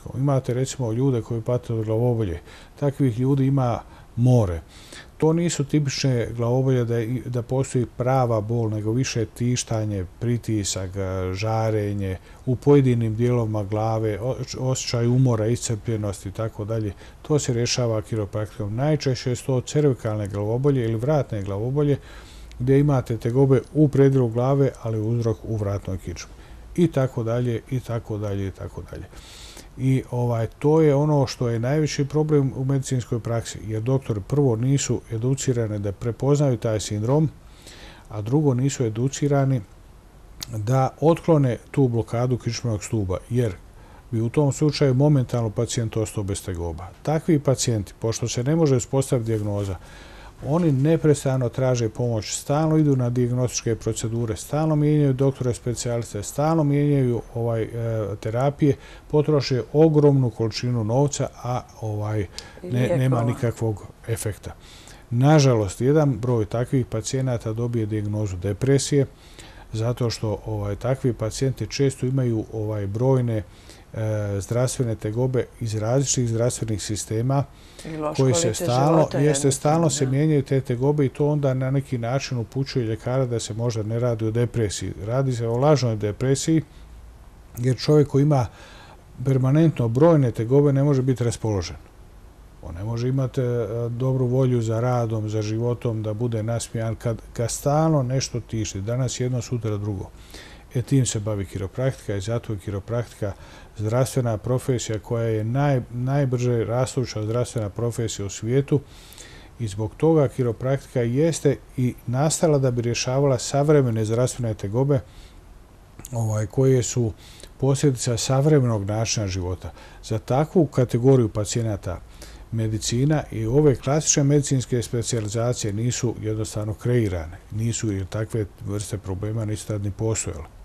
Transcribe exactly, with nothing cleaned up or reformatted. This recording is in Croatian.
kiropraktikom. Imate recimo ljude koji pate od glavobolje. Takvih ljudi ima more. To nisu tipične glavobolje da, da postoji prava bol, nego više tištanje, pritisak, žarenje, u pojedinim dijelovima glave, osjećaj umora, iscrpljenosti i tako dalje. To se rješava kiropraktikom. Najčešće su to cervikalne glavobolje ili vratne glavobolje, gdje imate tegobe u predjelu glave, ali uzrok u vratnoj kičmi. I tako dalje, i tako dalje, i tako dalje. I ovaj, to je ono što je najveći problem u medicinskoj praksi, jer doktori prvo nisu educirani da prepoznaju taj sindrom, a drugo nisu educirani da otklone tu blokadu kičmenog stuba, jer bi u tom slučaju momentalno pacijent ostao bez tegoba. Takvi pacijenti, pošto se ne može uspostaviti dijagnoza, oni neprestano traže pomoć, stalno idu na dijagnostičke procedure, stalno mijenjaju doktore specijaliste, stalno mijenjaju ovaj, e, terapije, potroše ogromnu količinu novca, a ovaj, ne, nema nikakvog efekta. Nažalost, jedan broj takvih pacijenata dobije dijagnozu depresije, zato što ovaj, takvi pacijenti često imaju ovaj, brojne E, zdravstvene tegobe iz različitih zdravstvenih sistema koji se stalno, jeste, stalno se mijenjaju te tegobe i to onda na neki način upućuje ljekara da se možda ne radi o depresiji. Radi se o lažnoj depresiji, jer čovjek koji ima permanentno brojne tegobe ne može biti raspoložen. On ne može imati dobru volju za radom, za životom, da bude nasmijan kad ga stalno nešto tišti. Danas jedno, sutra drugo. E tim se bavi kiropraktika i zato je kiropraktika zdravstvena profesija koja je naj, najbrže rastuća zdravstvena profesija u svijetu i zbog toga kiropraktika jeste i nastala da bi rješavala savremene zdravstvene tegobe ovaj, koje su posljedica savremenog načina života. Za takvu kategoriju pacijenata medicina i ove klasične medicinske specijalizacije nisu jednostavno kreirane. Nisu, jer takve vrste problema nisu tad ni postojale.